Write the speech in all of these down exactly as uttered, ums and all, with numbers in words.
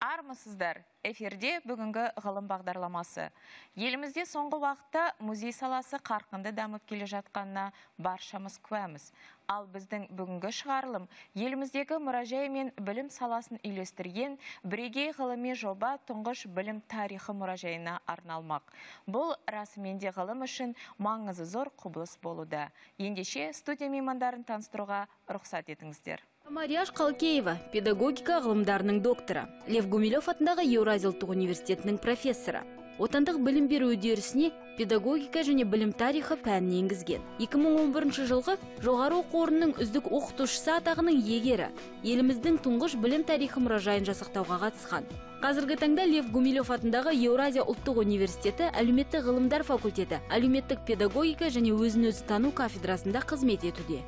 Армысыздар, эфирде бүгінгі ғылым бағдарламасы. Елімізде соңғы уақытта музей саласы қарқынды дамып келе жатқанына баршамыз куәміз. Ал біздің бүгінгі шығарылым еліміздегі мұражай мен білім саласын үйлестірген бірегей ғылыми жоба тұңғыш білім тарихы мұражайына арналмақ. Бұл расымен де ғылым үшін маңызы зор құбылыс болуда. Ендеше студия меймандарын таныстыруға рұқсат етіңіздер. Марияш Қалкеева, педагогика ғылымдарының докторы, Лев Гумилев атындағы Еуразия ұлттық университетінің профессоры. Отандық білім беру үдерісіне педагогика және білім тарихы пәнін енгізген. екі мың он бірінші жылғы жоғары оқу орнының үздік оқытушысы атағының иегері, еліміздің тұңғыш білім тарихы мұражайын жасақтауға қатысқан. Қазіргі таңда Лев Гумилев атындағы Еуразия ұлттық университеті әлеуметтік ғылымдар факультеті, әлеуметтік педагогика және өзін-өзі тану кафедрасында қызмет етуде.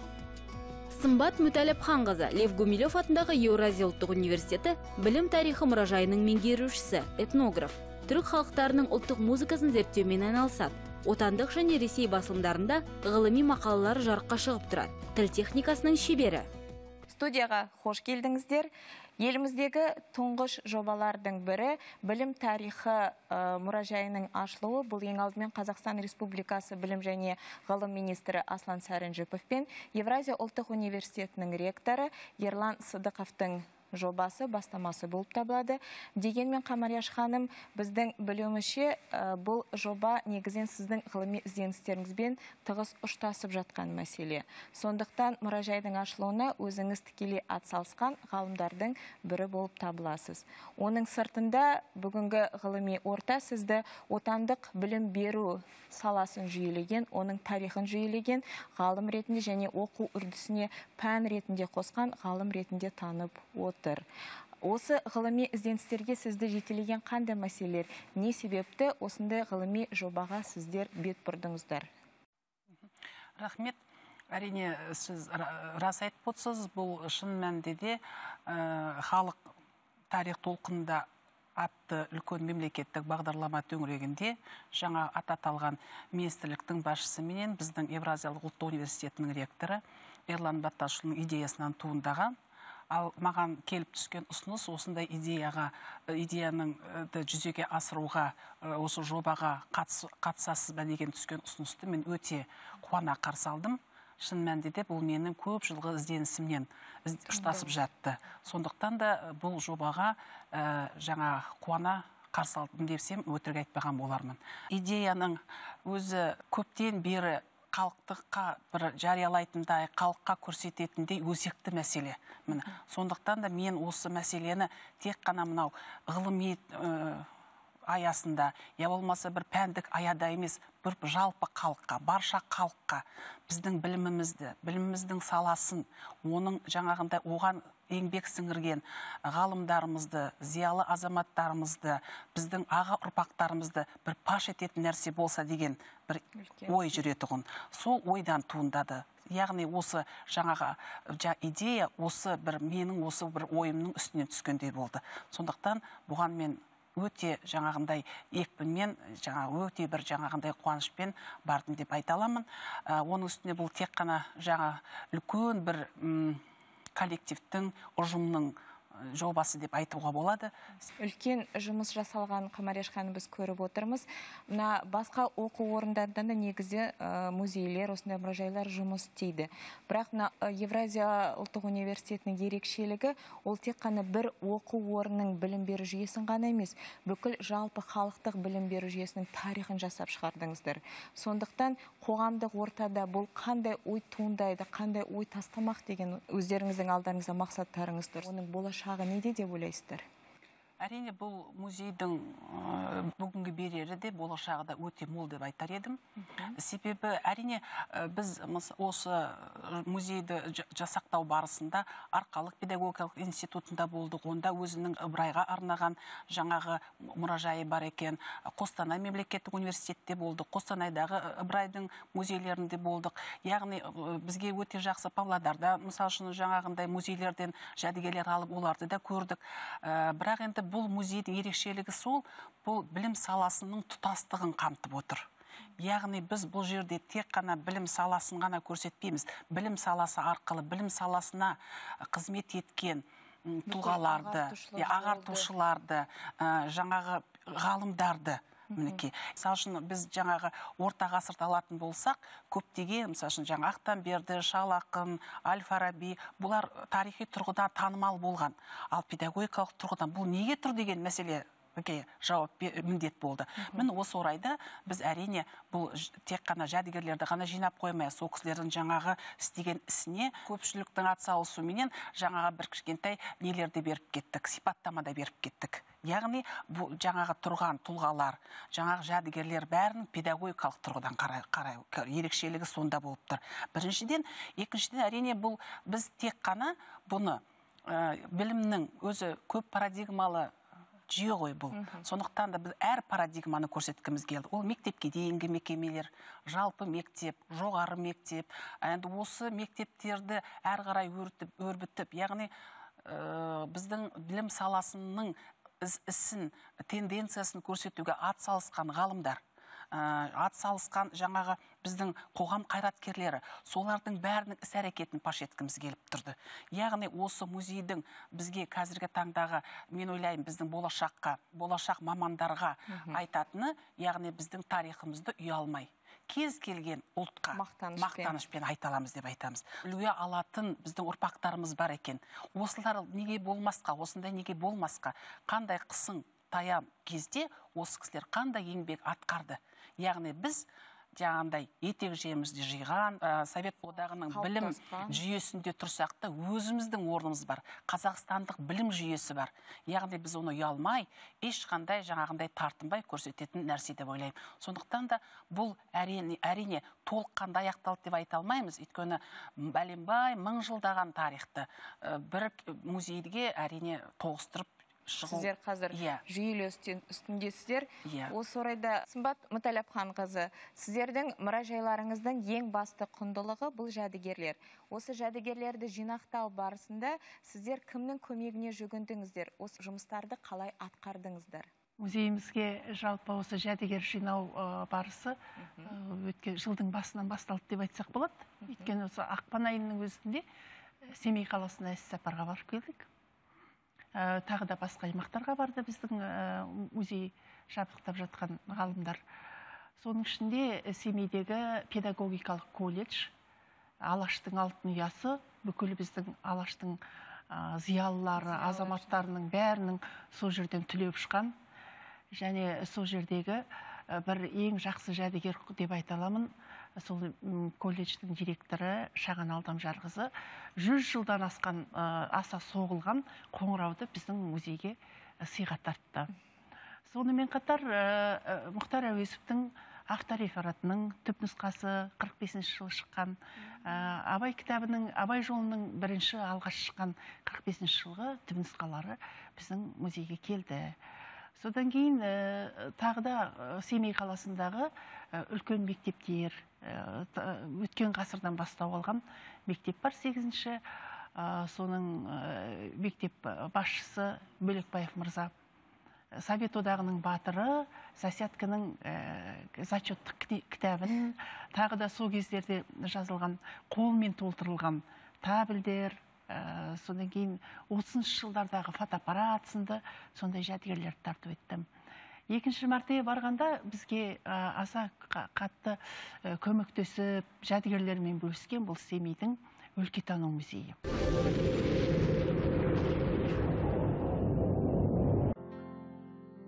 Сымбат Мүтәліпханқызы, Лев Гумилев атындағы Еуразия ұлттық университеті білім тарихы мұражайының меңгерушісі, этнограф, түрік халықтарының ұлттық музыкасын зерттеумен айналысады. Отандық және Ресей басылымдарында ғылыми мақалалар жарыққа шығып тұрады. Тіл техникасының шебері. Студияға қош келдіңіздер. Еліміздегі тұңғыш жобалардың бірі білім тарихы мұражайының ашылуы. Бұл ең алдымен Қазақстан Республикасы білім және ғылым министрі Аслан Сәрінжіпов пен Евразия ұлттық университетінің ректоры Ерлан Сыдықовтың жобасы, бастамасы болып табылады. Дегенмен, Қамарияш ханым, біздің білуімізше бұл жоба негізен сіздің ғылыми ізденістеріңізбен тығыз ұштасып жатқан мәселе. Сондықтан мұражайдың ашылуына өзіңіз тікелей атсалысқан ғалымдардың бірі болып табыласыз. Оның сыртында бүгінгі ғылыми орта сізді отандық білім беру саласын жүйелеген, оның тарихын жүйелеген ғалым ретінде және оқу үрдісіне пән ретінде қосқан ғалым ретінде танып отыр. Осы ғылыми ізденістерге сізді жетелеген қандай мәселелер, не себепті осындай ғылыми жобаға сіздер бет бұрдыңыздар? Рахмет. Әрине, сіз рас айтып отырсыз, бұл шын мәнінде де халық тарих толқынында атты үлкен мемлекеттік бағдарлама төңірегінде жаңа ататалған министрліктің басшысы менен біздің Евразиялық ұлттық университетінің ректоры Ерлан Батташұлының идеясынан туындаған. Ал маған келіп түскен ұсыныс осындай идеяға, идеяның жүзеге асыруға, осы жобаға қатысасыз ба деген түскен ұсынысты мен өте қуана қарсы алдым. Шын мәнінде де бұл менің көп жылғы ізденісімнен ұштасып жатты. Сондықтан да бұл жобаға жаңа қуана қарсы алдым десем, өтірік айтпаған болармын. Идеяның өзі көптен бері халықтыққа бір жариялайтындай, халыққа көрсететіндей өзекті мәселе. Сондықтан да мен осы мәселені тек қана мынау ғылыми аясында, я болмаса бір пәндік аяда емес, бір жалпы халыққа, барша халыққа біздің білімімізді, біліміміздің саласын, оның жаңағында оған еңбек сіңірген ғалымдарымызды, зиялы азаматтарымызды, біздің аға ұрпақтарымызды бір паш ететін нәрсе болса деген бір ой жүретұғын. Сол ойдан туындады. Яғни осы жаңаға идея, осы бір менің осы бір ойымның үстінен түскендей болды. Сондықтан бұған мен өте жаңағындай екпінмен, өте бір жаңағындай қуанышпен бардым деп айта аламын. Оның үстіне бұл тек қана жаңа үлкен бір коллективтің, ұжымның жобасы деп айтуға болады. Үлкен жұмыс жасалған, Қамарияш ханым, біз көріп отырмыз. Басқа оқу орындарында да негізі музейлер, осындай мұражайлар жұмыс істейді. Бірақ Евразия ұлттық университетінің ерекшелігі ол тек қана бір оқу орнының білім беру жүйесін ғана емес, бүкіл жалпы халықтық білім беру жүйесінің тарихын жасап шығардыңыздар. Сондықтан қоғамдық ортада бұл қандай ой туындайды, қандай ой тастамақ деген өздеріңіздің алдарыңызда мақсаттарыңыз тұр. Оның болашағы неде деп ойлайсыздар? Әрине, бұл музейдің бүгінгі берері де болашағы да өте мол деп айтар едім. Себебі әрине біз осы музейді жасақтау барысында Арқалық педагогикалық институтында болдық. Онда өзінің Ыбырайға арнаған жаңағы мұражайы бар екен. Қостанай мемлекеттік университетте болдық. Қостанайдағы Ыбырайдың музейлерінде болдық. Яғни бізге өте жақсы Павлодарда, мысалы үшін жаңағындай музейлерден жәдігерлер алып, оларды да көрдік. Бірақ енді бұл музейдің ерекшелігі сол, бұл білім саласының тұтастығын қамтып отыр. Яғни біз бұл жерде тек қана білім саласын ғана көрсетпейміз. Білім саласы арқылы, білім саласына қызмет еткен тұлғаларды, ағартушыларды, жаңағы ғалымдарды, мінекей. Мысалы үшін біз жаңағы орта ғасырды алатын болсақ, көптеген, мысалы үшін жаңа Ақтанберді, Шал Ақын, Әл-Фараби, бұлар тарихи тұрғыдан танымал болған. Ал педагогикалық тұрғыдан бұл неге тұр деген мәселе жауап міндет болды. Мін осы орайда біз әрине бұл тек қана жәдігерлерді ғана жинап қоймай, сол кісілердің жаңағы істеген ісіне көпшіліктің атсалысуменен жаңағы бір кішкентай нелерді беріп кеттік, сипаттамада беріп кеттік. Яғни бұл жаңағы тұрған тұлғалар, жаңағы жәдігерлер бәрінің педагогикалық тұрғыдан қарай ерекшелігі сонда болып тұр. Біріншіден, екіншіден әрине бұл біз тек қана бұны білімнің өзі көп парадигмалы жүйе ғой бұл. Сондықтан да біз әр парадигманы көрсеткіміз келді. Ол мектепке дейінгі мекемелер, жалпы мектеп, жоғары мектеп, енді осы мектептерді әр қарай өрбітіп, яғни біздің білім саласының ісін, тенденциясын көрсетуге атсалысқан ғалымдар, атсалысқан жаңағы біздің қоғам қайраткерлері, солардың бәрінің іс-әрекетін паш еткіміз келіп тұрды. Яғни осы музейдің бізге қазіргі таңдағы, мен ойлаймын, біздің болашаққа, болашақ мамандарға айтатыны, яғни біздің тарихымызды ұялмай, кез келген ұлтқа мақтанышпен айта аламыз деп айтамыз. Үлгі алатын біздің ұрпақтарымыз бар екен. Осылар неге болмасқа, осындай неге болмасқа, қандай қысың таян кезде осы кісілер қандай еңбек атқарды. Яғни біз жаңағындай етек жемізді жиған, Совет одағының білім жүйесінде тұрсақ та өзіміздің орнымыз бар. Қазақстандық білім жүйесі бар. Яғни біз оны ұялмай, ешқандай жаңағындай тартынбай көрсететін нәрсе деп ойлаймын. Сондықтан да бұл әрине, әрине толыққанды аяқталды деп айта алмаймыз. Өйткені бәленбай мың жылдаған тарихты бір музейге әрине тоғыстырып Сіздер қазір жүйелі үстіндесіздер. Осы орайда Сымбат Мүтәләпхан қызы, сіздердің мұражайларыңыздың ең басты құндылығы бұл жәдігерлер. Осы жәдігерлерді жинақтау барысында сіздер кімнің көмегіне жүгіндіңіздер? Осы жұмыстарды қалай атқардыңыздар? Музейімізге жалпы осы жәдігер жинау барысы өткен жылдың басынан басталды деп айтсақ болады. Өйткені осы ақпан айының өзінде Семей қаласына іс-сапарға барып келдік. Тағы да басқа аймақтарға барды біздің музей жабдықтап жатқан ғалымдар. Соның ішінде Семейдегі педагогикалық колледж, Алаштың алтын ұясы, бүкіл біздің Алаштың зиялылары, азаматтарының бәрінің сол жерден түлеп ұшқан. Және сол жердегі бір ең жақсы жәдігер деп айта аламын. Сол колледждің директоры Шаған Алдамжарқызы жүз жылдан асқан аса соғылған қоңырауды біздің музейге сыйға тартты. Сонымен қатар Мұхтар Әуезовтің Ақ рефератының түпнұсқасы қырық бесінші жылы шыққан, Абай кітабының, Абай жолының бірінші алғаш шыққан қырық бесінші жылғы түпнұсқалары біздің музейге келді. Содан кейін тағы да Семей қаласындағы үлкен мектептер, өткен ғасырдан бастау алған мектеп бар, сегізінші. Соның мектеп басшысы Бөлекбаев мырза, Совет одағының батыры, Засятканың зачеттік кітабын, тағы да сол кездерде жазылған, қолмен толтырылған табілдер, содан кейін отызыншы жылдардағы фотоаппарат сынды сондай жәдігерлерді тартып еттім. Екінші мәртебе барғанда бізге аса қатты көмектесіп жәдігерлермен бөліскен бұл Семейдің өлкетану музейі.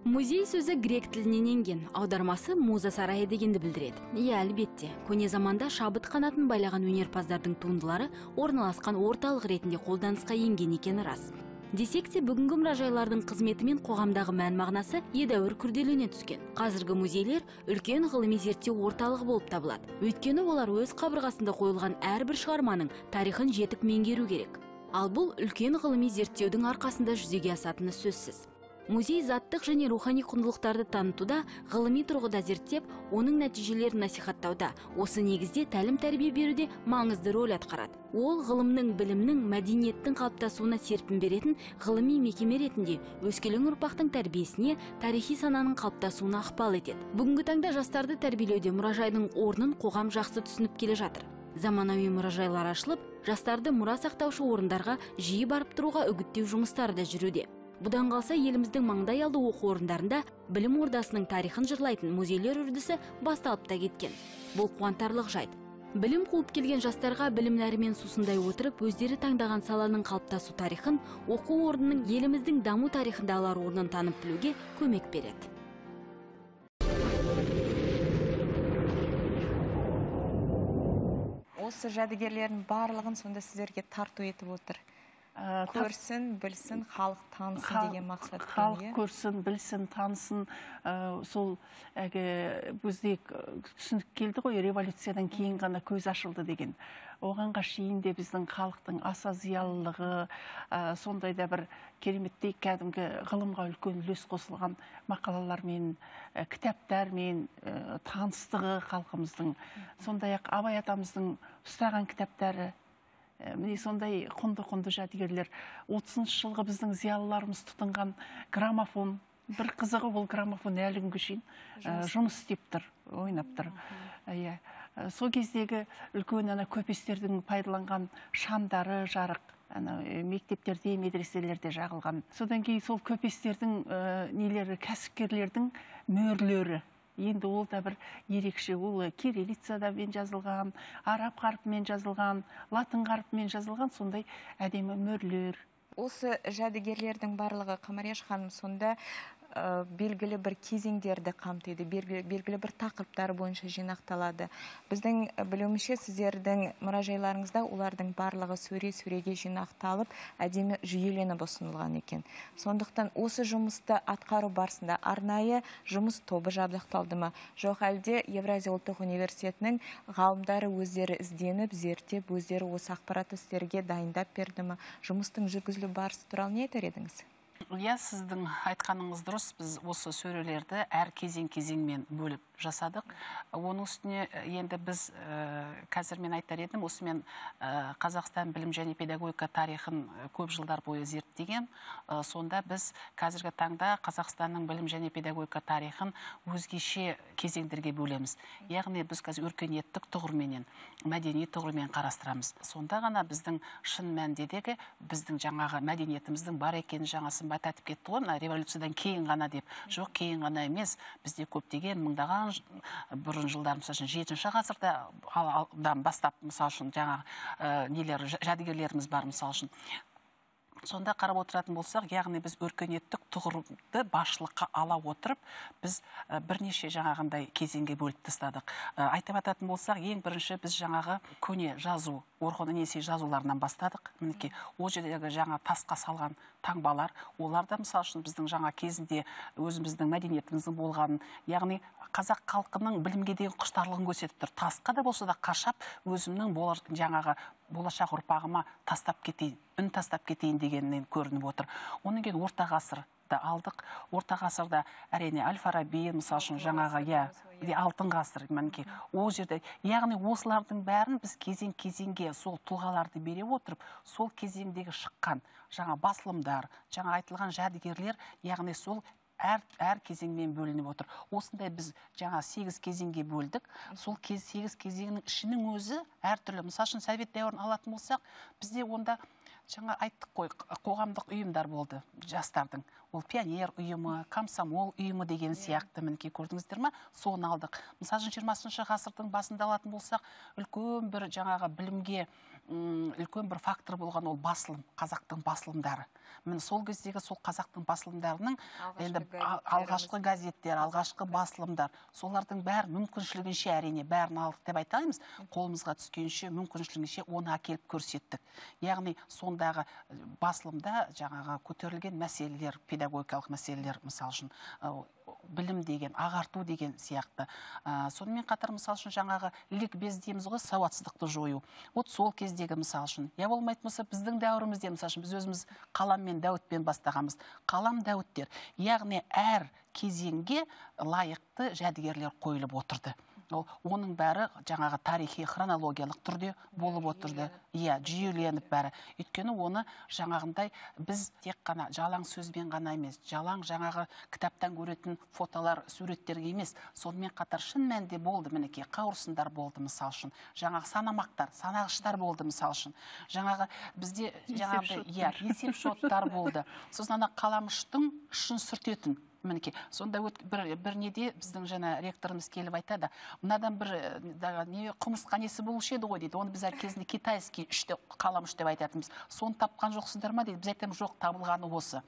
Музей сөзі грек тілінен енген, аудармасы муза сарайы дегенді білдіреді. Иә, әлбетте, көне заманда шабыт қанатын байлаған өнерпаздардың туындылары орналасқан орталық ретінде қолданысқа енген екені рас. Десек те бүгінгі мұражайлардың қызметі мен қоғамдағы мән мағынасы едәуір күрделене түскен. Қазіргі музейлер үлкен ғылыми зерттеу орталығы болып табылады. Өйткені олар өз қабырғасында қойылған әрбір шығарманың тарихын жетік меңгеру керек. Ал бұл үлкен ғылыми зерттеудің арқасында жүзеге асатыны сөзсіз. Музей заттық және рухани құндылықтарды танытуда, ғылыми тұрғыда зерттеп, оның нәтижелерін насихаттауда, осы негізде тәлім тәрбие беруде маңызды рөл атқарады. Ол ғылымның, білімнің, мәдениеттің қалыптасуына серпін беретін ғылыми мекеме ретінде өскелең ұрпақтың тәрбиесіне, тарихи сананың қалыптасуына ықпал етеді. Бүгінгі таңда жастарды тәрбиелеуде мұражайдың орнын қоғам жақсы түсініп келе жатыр. Заманауи мұражайлар ашылып, жастарды мұра сақтаушы орындарға жиі барып тұруға үгіттеу жұмыстары да жүруде. Бұдан қалса, еліміздің маңдай алды оқу орындарында білім ордасының тарихын жырлайтын музейлер үрдісі басталып та кеткен. Бұл қуантарлық жайт. Білім қуып келген жастарға білім нәрімен сусындай отырып, өздері таңдаған саланың қалыптасу тарихын, оқу орнының еліміздің даму тарихында алар орнын танып білуге көмек береді. Осы жәдігерлердің барлығын сонда сіздерге тарту етіп отыр. Көрсін, білсін, халық танысын деген мақсат. Халық көрсін, білсін, танысын. Сол бізде түсінік келді ғой, революциядан кейін ғана көз ашылды деген. Оғанға шейін де біздің халықтың аса зиялылығы, сондай да бір кереметтей кәдімгі ғылымға үлкен үлес қосылған мақалалармен, кітаптармен таныстығы халқымыздың. Сондай-ақ Абай атамыздың ұстаған кітаптары, міне сондай құнды-құнды жәдігерлер. отызыншы жылғы біздің зиялыларымыз тұтынған граммофон. Бір қызығы ол граммофон әлі күнге шейін жұмыс істеп тұр, ойнап тұр. Сол кездегі үлкен ана көпестердің пайдаланған шамдары жарық, мектептерде, медреселерде жағылған. Содан кейін сол көпестердің нелері, кәсіпкерлердің мөрлері. Енді ол да бір ерекше, ол кириллицадамен жазылған, араб қарпымен жазылған, латын қарпымен жазылған, сондай әдемі мөрлер. Осы жәдігерлердің барлығы, Қамарияш ханым, сонда белгілі бір кезеңдерді қамтиды, белгілі бір тақырыптар бойынша жинақталады. Біздің білуімше, сіздердің мұражайларыңызда олардың барлығы сөре-сөреге жинақталып, әдемі жүйеленіп ұсынылған екен. Сондықтан осы жұмысты атқару барысында арнайы жұмыс тобы жабдықталды ма? Жоқ әлде Евразия ұлттық университетінің ғалымдары өздері ізденіп, зерттеп, өздері осы ақпаратты сіздерге дайындап берді ма? Жұмыстың жүргізілу барысы туралы не айтар едіңіз? Иә, сіздің айтқаныңыз дұрыс. Біз осы сөрелерді әр кезең-кезеңмен бөліп жасадық. Оның үстіне енді біз қазір мен айтар едім, осымен Қазақстан білім және педагогика тарихын көп жылдар бойы зерттеген. Сонда біз қазіргі таңда Қазақстанның білім және педагогика тарихын өзгеше кезеңдерге бөлеміз. Яғни біз қазір өркениеттік тұғырменен, мәдени тұғырмен қарастырамыз. Сонда ғана біздің шын мәндедегі біздің жаңағы мәдениетіміздің бар екенін жаңасын бататып кетті ғой, революциядан кейін ғана деп. Жоқ, кейін ғана емес, бізде көптеген мыңдаған бұрын жылдар, мысалы үшін жетінші ғасырдан бастап, мысалы үшін жаңағы нелер, жәдігерлеріміз бар, мысалы үшін. Сонда қарап отыратын болсақ, яғни біз өркениеттік тұғырды басшылыққа ала отырып, біз бірнеше жаңағындай кезеңге бөліп тастадық. Айтып ататын болсақ, ең бірінші біз жаңағы көне жазу, Орхон Енесей жазуларынан бастадық. Мінекей, ол жердегі жаңа тасқа салған таңбалар, олар да мысалы үшін біздің жаңа кезінде өзіміздің мәдениетіміздің болғанын, яғни қазақ халқының білімге деген құштарлығын көрсетіп тұр. Тасқа да болса да қашап, өзімнің жаңағы болашақ ұрпағыма тастап кетейін, үн тастап кетейін дегеннен көрініп отыр. Оның кейін орта ғасырда алдық. Орта ғасырда әрине Әл-Фараби, мысалы үшін жаңағы, иә, алтын ғасыр, мінекей, ол жерде, яғни осылардың бәрін біз кезең-кезеңге сол тұлғаларды бере отырып, сол кезеңдегі шыққан жаңа басылымдар, жаңа айтылған жәдігерлер, яғни сол әр, әр кезеңмен бөлініп отыр. Осындай біз жаңа сегіз кезеңге бөлдік. Сол сегіз кезеңнің ішінің өзі әртүрлі. Мысалы үшін Совет дәуірін алатын болсақ, бізде онда жаңа айттық қой, қоғамдық ұйымдар болды жастардың. ол пионер ұйымы, комсомол ұйымы деген сияқты мінекей көрдіңіздер ма, соны алдық. Мысалы жиырмасыншы ғасырдың басында алатын болсақ, үлкен бір жаңағы білімге үлкен бір фактор болған ол басылым, қазақтың басылымдары. Міне сол кездегі сол қазақтың басылымдарының енді алғашқы газеттер, алғашқы басылымдар, солардың бәрі мүмкіншілігінше әрине бәрін алдық деп айта алмаймыз, қолымызға түскенше мүмкіншілігінше оны әкеліп көрсеттік. Яғни сондағы басылымда жаңағы көтерілген мәселелер, педагогикалық мәселелер, мысалы үшін білім деген, ағарту деген сияқты. Сонымен қатар мысалы үшін жаңағы ликбез дейміз ғой, сауатсыздықты жою. Вот сол кездегі мысалы үшін, я болмайтын болса біздің дәуірімізде мысалы үшін біз өзіміз қалам мен дәуітпен бастағанбыз. Қалам дәуіттер. Яғни әр кезеңге лайықты жәдігерлер қойылып отырды. Оның бәрі жаңағы тарихи хронологиялық түрде болып отырды. Иә, жүйеленіп бәрі. Өйткені оны жаңағындай біз тек қана жалаң сөзбен ғана емес, жалаң жаңағы кітаптан көретін фотолар, суреттерге емес, сонымен қатар шын мәнінде болды, мінекей, қауырсындар болды мысал үшін. Жаңағы санамақтар, санағыштар болды мысал үшін. Жаңағы бізде жаңағыдай, иә, есеп шоттар болды. Сосын ана қаламұштың ұшын сүртетін. Мінекей, сонда бір неде біздің жаңа ректорымыз келіп айтады, мынадан бір құмырсқа несі болушы еді ғой дейді. Оны біз әр кезінде китайский үшті қаламұш деп айтатынбыз. Соны тапқан жоқсыздар ма дейді. Біз айтамыз, жоқ, табылғаны осы.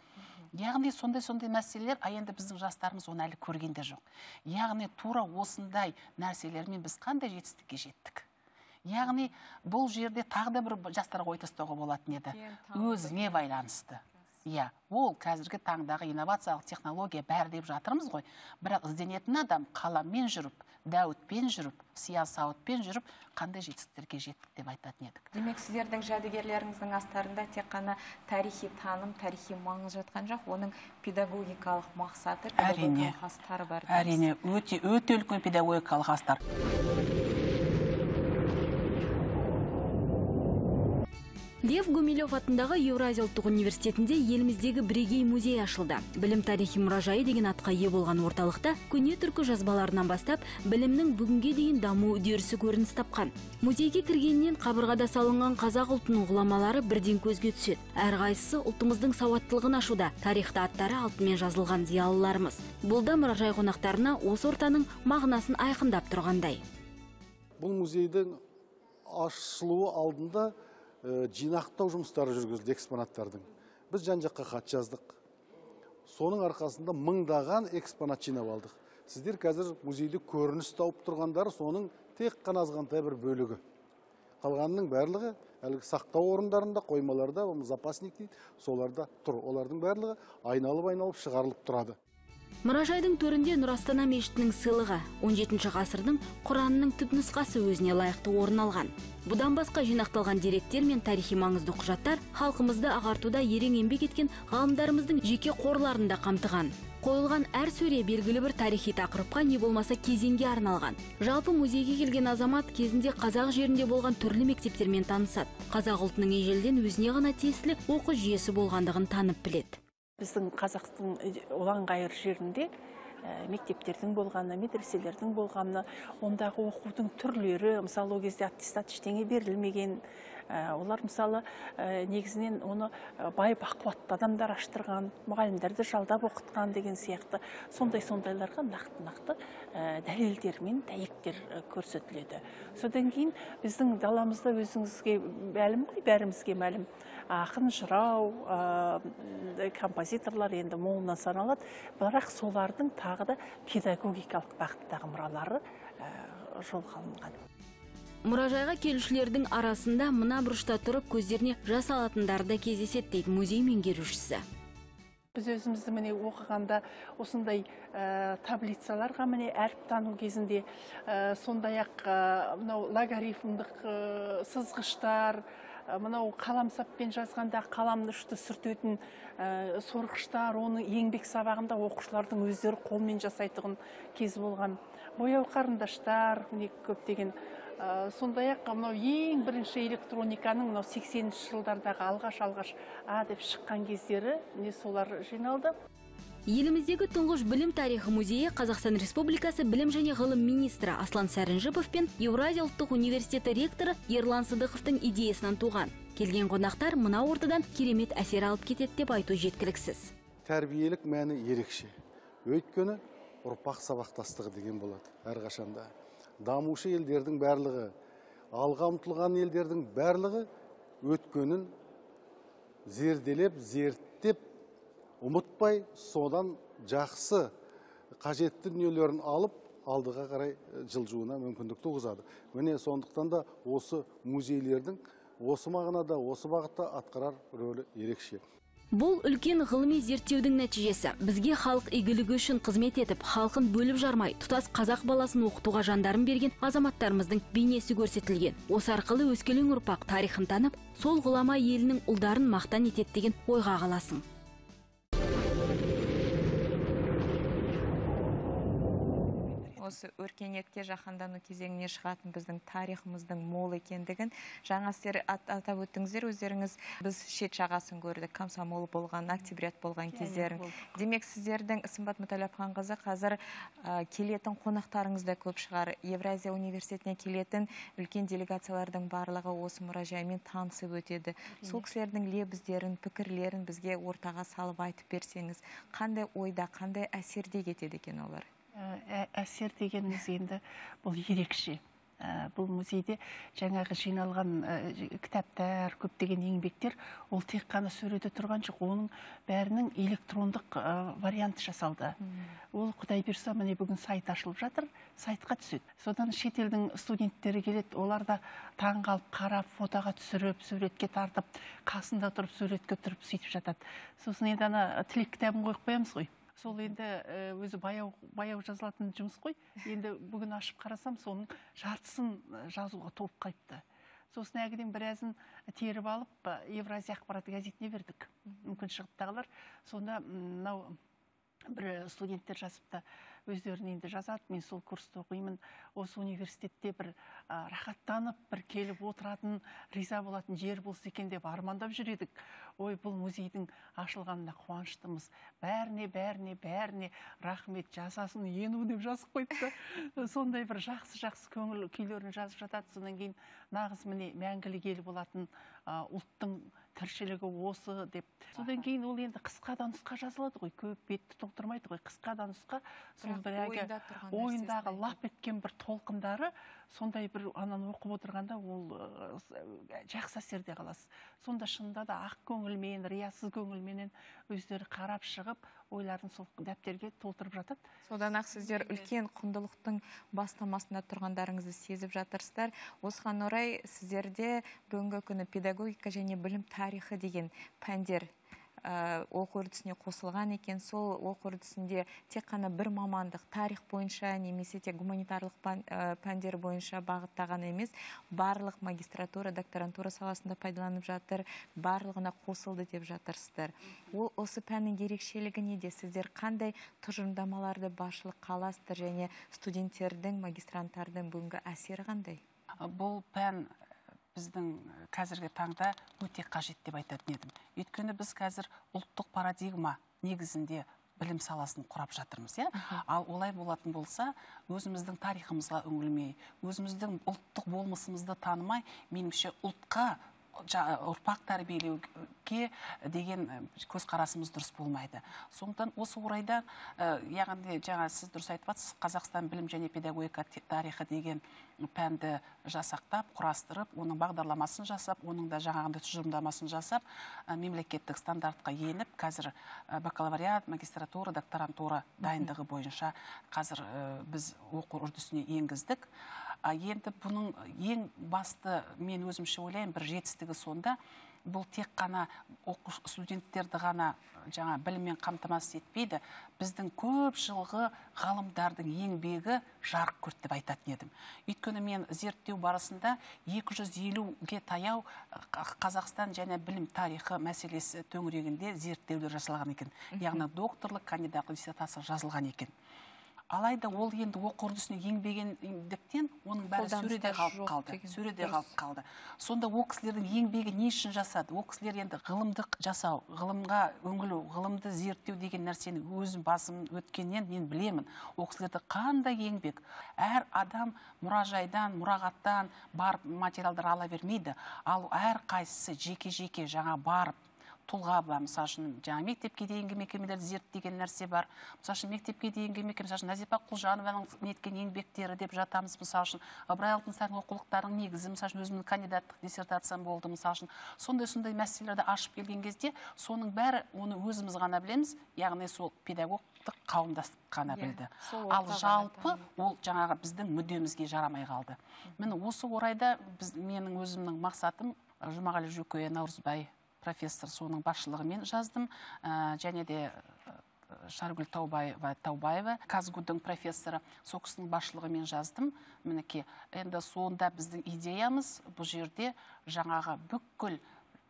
Яғни сондай-сондай мәселелер, а енді біздің жастарымыз оны әлі көргенде жоқ. Яғни тура осындай нәрселермен біз қандай жетістікке жеттік. Яғни бұл жерде тағы да бір жастарға ой тастауға болатын еді. Өзіңе байланысты. Иә, ол қазіргі таңдағы инновациялық технология бәрі деп жатырмыз ғой. Бірақ ізденетін адам қаламмен жүріп, дәуітпен жүріп, сиясауытпен жүріп, қандай жетістіктерге жеттік деп айтатын едік. Демек, сіздердің жәдігерлеріңіздің астарында тек қана тарихи таным, тарихи маңыз жатқан жоқ, оның педагогикалық мақсаты, педагогикалық астары бар. Әрине, өте өте үлкен педагогикалық астар. Лев Гумилев атындағы Еуразия ұлттық университетінде еліміздегі бірегей музей ашылды. Білім тарихи мұражайы деген атқа ие болған орталықта көне түркі жазбаларынан бастап білімнің бүгінге дейін даму үдерісі көрініс тапқан. Музейге кіргеннен қабырғада салынған қазақ ұлтының ғұламалары бірден көзге түседі. Әрқайсысы ұлтымыздың сауаттылығын ашуда, тарихта аттары алтынмен жазылған зиялыларымыз. Бұл да мұражай қонақтарына осы ортаның мағынасын айқындап тұрғандай. Бұл музейдің ашылуы алдында жинақтау жұмыстары жүргізілді экспонаттардың. Біз жан-жаққа хат жаздық. Соның арқасында мыңдаған экспонат жинап алдық. Сіздер қазір музейде көрініс тауып тұрғандары соның тек қана азғантай бір бөлігі. Қалғанының барлығы әлгі сақтау орындарында, қоймаларда, запасник дейді, соларда тұр. Олардың барлығы айналып-айналып шығарылып тұрады. Мұражайдың төрінде Нұр Астана мешітінің сыйлығы он жетінші ғасырдың Құранының түпнұсқасы өзіне лайықты орын алған. Бұдан басқа жинақталған деректер мен тарихи маңызды құжаттар халқымызды ағартуда ерен еңбек еткен ғалымдарымыздың жеке қорларында қамтыған. Қойылған әр сөре белгілі бір тарихи тақырыпқа не болмаса кезеңге арналған. Жалпы музейге келген азамат кезінде қазақ жерінде болған түрлі мектептермен танысады. Қазақ ұлтының ежелден өзіне ғана тиесілі оқу жүйесі болғандығын танып біледі. Біздің қазақтың ұлан-ғайыр жерінде мектептердің болғаны, медреселердің болғаны, ондағы оқудың түрлері, мысалы ол кезде аттестат ештеңе берілмеген. Олар мысалы негізінен оны бай бақуатты адамдар аштырған, мұғалімдерді жалдап оқытқан деген сияқты сондай-сондайларға нақты-нақты дәлелдер мен дәйектер көрсетіледі. Содан кейін біздің даламызда өзіңізге мәлім ғой, бәрімізге мәлім. Ақын, жырау, композиторлар енді молынан саналады, бірақ солардың тағы да педагогикалық бағыттағы мұралары жолға алынған. Мұражайға келушілердің арасында мына бұрышта тұрып көздеріне жас алатындар да кездеседі дейді музей меңгерушісі. Біз өзімізді міне оқығанда осындай таблицаларға міне әріп тану кезінде сондай-ақ мынау логарифмдық сызғыштар, мынау қаламсаппен жазғанда қаламды ұшты сүртетін сорғыштар, оны еңбек сабағында оқушылардың өздері қолмен жасайтын кез болған. Бояу қарындаштар, көптеген. Сондай-ақ мынау ең бірінші электрониканың мынау сексенінші жылдардағы алғаш-алғаш а деп шыққан кездері не солар жиналды. Еліміздегі тұңғыш білім тарихы музейі Қазақстан Республикасы білім және ғылым министрі Аслан Сәрінжіпов пен Еуразия ұлттық университеті ректоры Ерлан Сыдықовтың идеясынан туған. Келген қонақтар мына ортадан керемет әсер алып кетеді деп айту жеткіліксіз. тәрбиелік мәні ерекше. Өйткені ұрпақ сабақтастығы деген болады әрқашанда. Дамушы елдердің барлығы, алға ұмтылған елдердің барлығы өткенін зерделеп, зерттеп, ұмытпай, содан жақсы қажетті дүниелерін алып, алдыға қарай жылжуына мүмкіндік туғызады. Міне сондықтан да осы музейлердің осы мағынада, осы бағытта атқарар рөлі ерекше. Бұл үлкен ғылыми зерттеудің нәтижесі. Бізге халық игілігі үшін қызмет етіп, халқын бөліп жармай, тұтас қазақ баласын оқытуға жандарын берген азаматтарымыздың бейнесі көрсетілген. Осы арқылы өскелең ұрпақ тарихын танып, сол ғұлама елінің ұлдарын мақтан етеді деген ойға қаласың. Осы өркениетке жаһандану кезеңіне шығатын біздің тарихымыздың мол екендігін жаңа сіздер атап өттіңіздер, өздеріңіз біз шет жағасын көрдік, комсомол болған, октябрят болған кездерін. Демек сіздердің Сымбат Мүтәлләпханқызы қазір келетін қонақтарыңыз да көп шығар. Евразия университетіне келетін үлкен делегациялардың барлығы осы мұражаймен танысып өтеді. Сол кісілердің лебіздерін, пікірлерін бізге ортаға салып айтып берсеңіз, қандай ойда, қандай әсерде кетеді екен олар? Әсер дегеніміз енді бұл ерекше. Бұл музейде жаңағы жиналған кітаптар, көптеген еңбектер, ол тек қана сөреде тұрған жоқ, оның бәрінің электрондық варианты жасалды. Ол құдай берсе, міне бүгін сайт ашылып жатыр, сайтқа түседі. Содан шетелдің студенттері келеді, олар да таңғалып, қарап, фотоға түсіріп, суретке тартып, қасында тұрып, суретке тұрып сөйтіп жатады. Сосын енді ана тілек кітабын қойып қоямыз ғой. Сол енді өзі баяу, баяу жазылатын жұмыс қой. Енді бүгін ашып қарасам, соның жартысын жазуға толып қайтты. Сосын әгіден біразын теріп алып, Евразия ақпараты газетіне бердік. Мүмкін шығыптағылар. Сонда мынау бір студенттер жазыпты, өздерін енді жазады, мен сол курсты оқимын, осы университетте бір рахаттанып, бір келіп отыратын, риза болатын жер болса екен деп армандап жүредік. Ой, бұл музейдің ашылғанына қуаныштымыз. Бәріне, бәріне, бәріне рахмет, жасасын ену деп жазып қойыпты. Сондай бір жақсы-жақсы көңіл күйлерін жазып жатады. Содан кейін нағыз міне мәңгілік ел болатын ұлттың тіршілігі осы деп. Содан кейін ол енді қысқа да нұсқа жазылады ғой, көп бетті толтырмайды ғой, қысқа да нұсқа. Сол бір әгі ойындағы лап еткен бір толқындары, сондай бір ананы оқып отырғанда ол жақсы әсерде қаласыз. Сонда шынында да ақ көңілмен, риясыз көңілменен өздері қарап шығып, ойларын сол дәптерге толтырып жатады. Содан ақ сіздер үлкен құндылықтың бастамасында тұрғандарыңызды сезіп жатырсыздар. Осыған орай сіздерде бүгінгі күні педагогика және білім тарихы деген пәндер оқу үрдісіне қосылған екен. Сол оқу үрдісінде тек қана бір мамандық тарих бойынша немесе тек гуманитарлық пәндер бойынша бағыттаған емес, барлық магистратура, докторантура саласында пайдаланып жатыр, барлығына қосылды деп жатырсыздар. Ол осы пәннің ерекшелігі неде? Сіздер қандай тұжырымдамаларды басшылық қаласыздар және студенттердің, магистранттардың бүгінгі әсері қандай? Бұл пән біздің қазіргі таңда өте қажет деп айтатын едім. Өйткені біз қазір ұлттық парадигма негізінде білім саласын құрап жатырмыз. Ал олай болатын болса, өзіміздің тарихымызға үңілмей, өзіміздің ұлттық болмысымызды танымай, меніңше ұлтқа ұрпақ тәрбиелеуге деген көзқарасымыз дұрыс болмайды. Сондықтан осы орайда, яғни жаңа сіз дұрыс айтып жатсыз, Қазақстан білім және педагогика тарихы деген пәнді жасақтап, құрастырып, оның бағдарламасын жасап, оның да жаңағындай тұжырымдамасын жасап, мемлекеттік стандартқа еніп, қазір бакалавриат, магистратура, докторантура дайындығы бойынша қазір біз оқу үрдісіне енгіздік. Енді бұның ең басты, мен өзімше ойлайын, бір жетістігі сонда, бұл тек қана студенттерді ғана жаңа біліммен қамтамасыз етпейді, біздің көп жылғы ғалымдардың еңбегі жарық көрді деп айтатын едім. Өйткені мен зерттеу барысында екі жүз елуге таяу Қазақстан және білім тарихы мәселесі төңірегінде зерттеулер жасалған екен. Яғни докторлық, кандидаттық диссертация жазылған екен. Алайда ол енді оқу үрдісіне еңбегендіктен оның бәрі сөреде қалып қалды. Сөреде қалып қалды. Сонда ол кісілердің еңбегі не үшін жасады? Ол кісілер енді ғылымдық жасау, ғылымға үңілу, ғылымды зерттеу деген нәрсені өзім басым өткеннен мен білемін. Ол кісілерді қандай еңбек? Әр адам мұражайдан, мұрағаттан барып материалдар ала бермейді. Ал әр қайсысы жеке-жеке жаңа барып, тұлға бар. Мысалы үшін жаңа мектепке дейінгі мекемелерді зерттеген нәрсе бар. Мысалы үшін мектепке дейінгі мекеме, мысалы үшін Назипа Құлжанованың неткен еңбектері деп жатамыз. Мысалы үшін Ыбырай Алтынсарин оқулықтарының негізі, мысалы үшін өзімнің кандидаттық диссертациям болды. Мысалы үшін сондай-сондай мәселелерді ашып келген кезде, соның бәрі оны өзіміз ғана білеміз, яғни сол педагогтық қауымдастық қана білді. Ал жалпы ол жаңағы біздің мүддемізге жарамай қалды. Міне осы орайда біз, менің өзімнің мақсатым, Жұмағали Жөкей Наурызбай профессор соның басшылығымен жаздым, және де Шаргүл Таубаева Таубаева Казгудың профессоры сол кісінің басшылығымен жаздым. Мінекей, енді сонда біздің идеямыз бұл жерде жаңағы бүкіл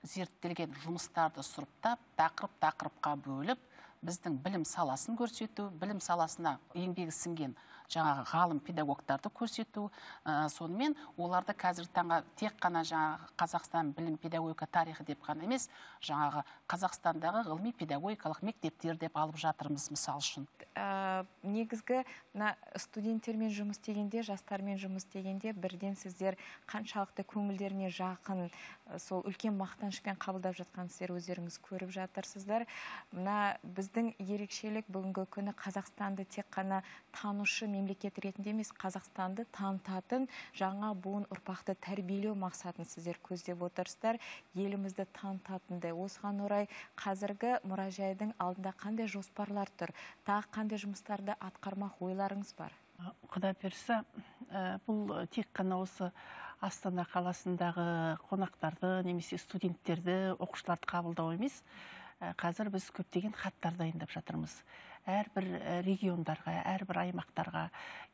зерттелген жұмыстарды сұрыптап, тақырып-тақырыпқа бөліп, біздің білім саласын көрсету, білім саласына еңбегі сіңген жаңағы ғалым педагогтарды көрсету, сонымен оларды қазіргі таңға тек қана жаңағы Қазақстан білім педагогика тарихы деп қана емес, жаңағы Қазақстандағы ғылыми педагогикалық мектептер деп алып жатырмыз, мысал үшін. Негізгі студенттермен жұмыс істегенде, жастармен жұмыс істегенде бірден сіздер қаншалықты көңілдеріне жақын, сол үлкен мақтанышпен қабылдап жатқан сіздер өздеріңіз көріп жатырсыздар. Мына біздің ерекшелік бүгінгі күні Қазақстанды тек қана танушы мемлекет ретінде емес, Қазақстанды танытатын жаңа буын ұрпақты тәрбиелеу мақсатын сіздер көздеп отырсыздар. Елімізді танытатындай. Осыған орай қазіргі мұражайдың алдында қандай жоспарлар тұр? Тағы қандай жұмыстарды атқармақ ойларыңыз бар? Құда берсе, бұл тек қана осы Астана қаласындағы қонақтарды, немесе студенттерді, оқушыларды қабылдау емес. Қазір біз көптеген хаттар дайындап жатырмыз. Әрбір региондарға, әрбір аймақтарға,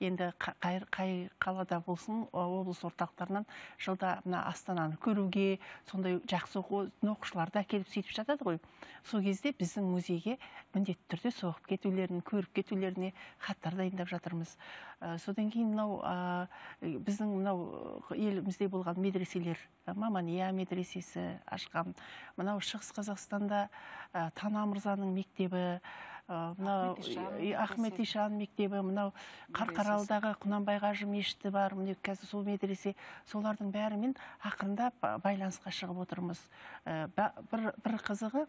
енді қай қалада болсын, облыс орталықтарынан жылда Астананы көруге, сондай жақсы оқушыларды әкеліп сөйтіп жатады ғой. Сол кезде біздің музейге міндетті түрде соғып кетулерін, көріп кетулеріне хаттар дайындап жатырмыз. Содан кейін мынау біздің мынау елімізде болған медреселер, Мамания медресесі ашқан, мынау Шығыс Қазақстанда Тана Мырзаның мектебі, Ахмет Ишан мектебі, мынау Қарқаралыдағы Құнанбай Қажы мешіті бар, міне қазір сол медресе, солардың бәрімен ақырындап байланысқа шығып отырмыз. Бір қызығы,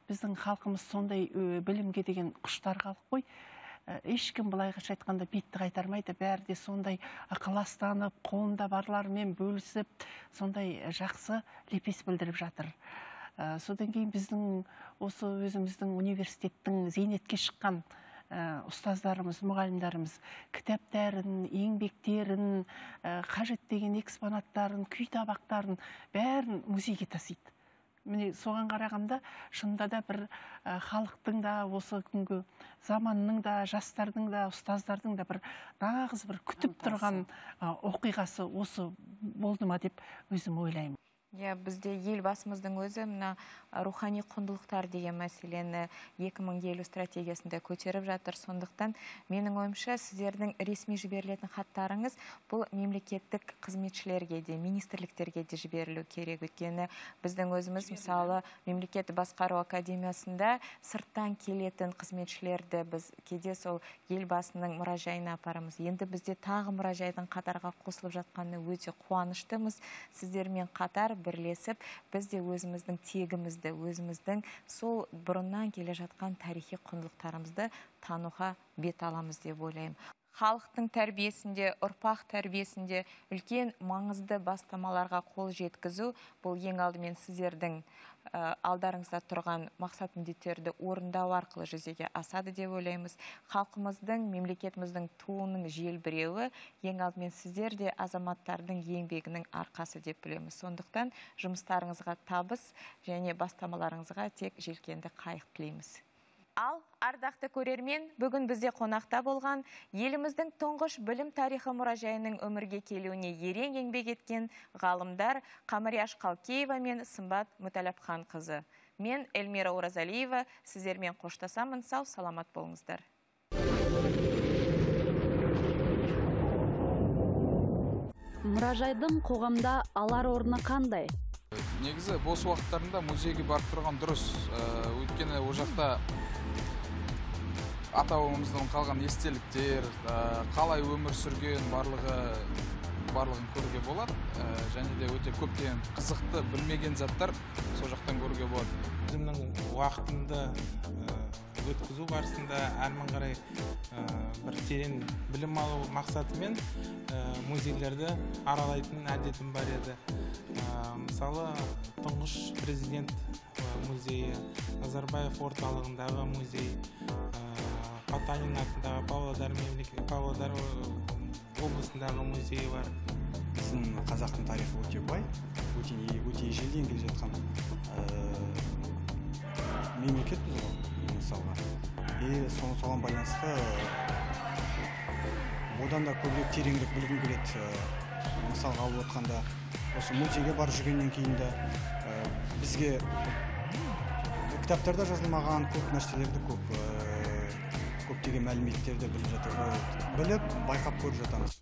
біздің халқымыз сондай білімге деген құштар халық қой. Ешкім былайға айтқанда бетті қайтармайды, бәрі де сондай ықыластанып, қолында барларымен бөлісіп, сондай жақсы лепес білдіріп жатыр. Содан кейін біздің осы өзіміздің университеттің зейнетке шыққан ұстаздарымыз, мұғалімдарымыз кітаптарын, еңбектерін, қажет деген экспонаттарын, күй табақтарын бәрін музейге тасиды. Міне соған қарағанда шынында да бір халықтың да, осы күнгі заманның да, жастардың да, ұстаздардың да бір нағыз бір күтіп тұрған оқиғасы осы болды ма деп өзім ойлаймын. Бізде елбасымыздың өзі мына рухани құндылықтар деген мәселені екі мың елу стратегиясында көтеріп жатыр. Сондықтан менің ойымша сіздердің ресми жіберілетін хаттарыңыз бұл мемлекеттік қызметшілерге де, министрліктерге де жіберілу керек. Өйткені біздің өзіміз мысалы мемлекет басқару академиясында сырттан келетін қызметшілерді біз кейде сол елбасының мұражайына апарамыз. Енді бізде тағы мұражайдың қатарға қосылып жатқанына өте қуаныштымыз. Сіздермен қатар бірлесіп, біз де өзіміздің тегімізді, өзіміздің сол бұрыннан келе жатқан тарихи құндылықтарымызды тануға бет аламыз деп ойлаймын. Халықтың тәрбиесінде, ұрпақ тәрбиесінде үлкен маңызды бастамаларға қол жеткізу, бұл ең алдымен сіздердің алдарыңызда тұрған мақсат міндеттерді орындау арқылы жүзеге асады деп ойлаймыз. Халқымыздың, мемлекетіміздің туының желбіреуі ең алдымен сіздер де азаматтардың еңбегінің арқасы деп білеміз. Сондықтан жұмыстарыңызға табыс және бастамаларыңызға тек желкенді қайық тілейміз. Ал, ардақты көрермен, бүгін бізде қонақта болған еліміздің тұңғыш білім тарихы мұражайының өмірге келуіне ерең еңбек еткен ғалымдар Қамарияш Қалкеева мен Сымбат Мүтәләпхан қызы. Мен Эльмира Оразалиева, сіздермен қоштасамын, сау саламат болыңыздар. Мұражайдың қоғамда алар орны қандай? Негізі бос уақыттарында музейге барып тұрған дұрыс. Өйткені о жақта ата-бабамыздан қалған естеліктер, қалай өмір сүрген, барлығы барлығын көруге болады. Және де өте көптеген қызықты білмеген заттар сол жақтан көруге болады. Өзімнің уақытымды өткізу барысында әрмен қарай бір терең білім алу мақсатымен музейлерді аралайтын әдетім бар еді. Мысалы, тұңғыш президент музейі, Назарбаев орталығындағы музей, Потанин атындағы Павлодар Павлодар облысындағы музейі бар. Біздің қазақтың тарихы өте бай, өте ежелден келе жатқан мемлекетпіз ғой, мысалға. И соған байланысты одан да көбірек тереңірек білгім келеді. Мысалға алып отқанда, осы музейге барып жүргеннен кейін де бізге кітаптарда жазылмаған көп нәрселерді, көп көптеген мәліметтерді біліп жатыр, біліп, байқап көріп жатамыз.